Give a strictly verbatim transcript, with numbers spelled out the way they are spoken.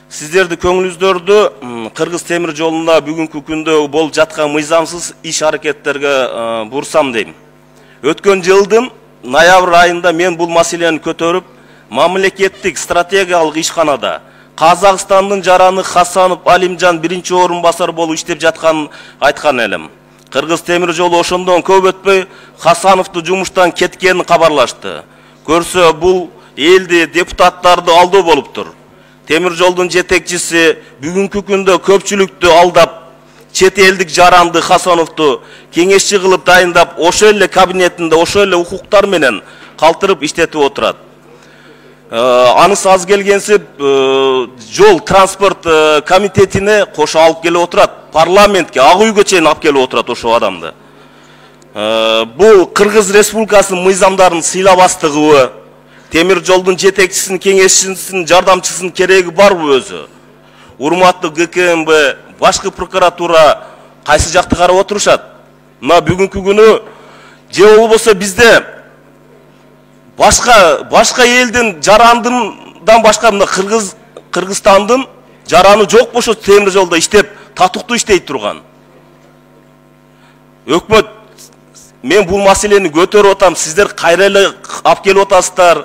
Сиздерди көңүлүңүздөрдү Кыргыз темир жолунда бүгүнкү күндө болуп жаткан мыйзамсыз иш аракеттерге бурсам дейм. Өткөн жылдын ноябрь айында мен бул маселени көтөрүп, мамлекеттик стратегиялык ишканада Казакстандын жараны Хасанов Алимжан биринчи орун басар болуп иштеп жатканын айткан элем. Кыргыз темир жолу ошондон көп өтпөй Хасановду жумуштан кеткенин кабарлашты. Көрсө бул элди, депутаттарды алдоо болуптур. Темир жолдун жетекчиси бүгүнкү күндө көпчүлүктү алдап, чет элдик жаранды Хасановду кеңешчи кылып дайындап, ошол эле кабинетинде ошол эле укуктар менен калтырып иштетип отурат. Анысы аз келгенсип жол транспорт комитетине кошо алып келип отурат. Парламентке, Ак үйгө чейин алып келип отурат ошол адамды. Бул Кыргыз Республикасынын мыйзамдарын сыйлабастыгыбы, темир жолдун жетекчисинин, кеңешчисинин, жардамчысынын кереги барбы өзү? Урматтуу ГКМБ, башкы прокуратура кайсы жакты карап отурушат? Мына бүгүнкү күнү же болбосо бизде башка башка элдин жарандындан башка мына Кыргыз Кыргызстандын жараны жок болсо темир жолдо иштеп, татыктуу иштей турган. Өкмөт, мен бул маселени көтөрүп атам, сиздер кайра эле алып келип атасыздар.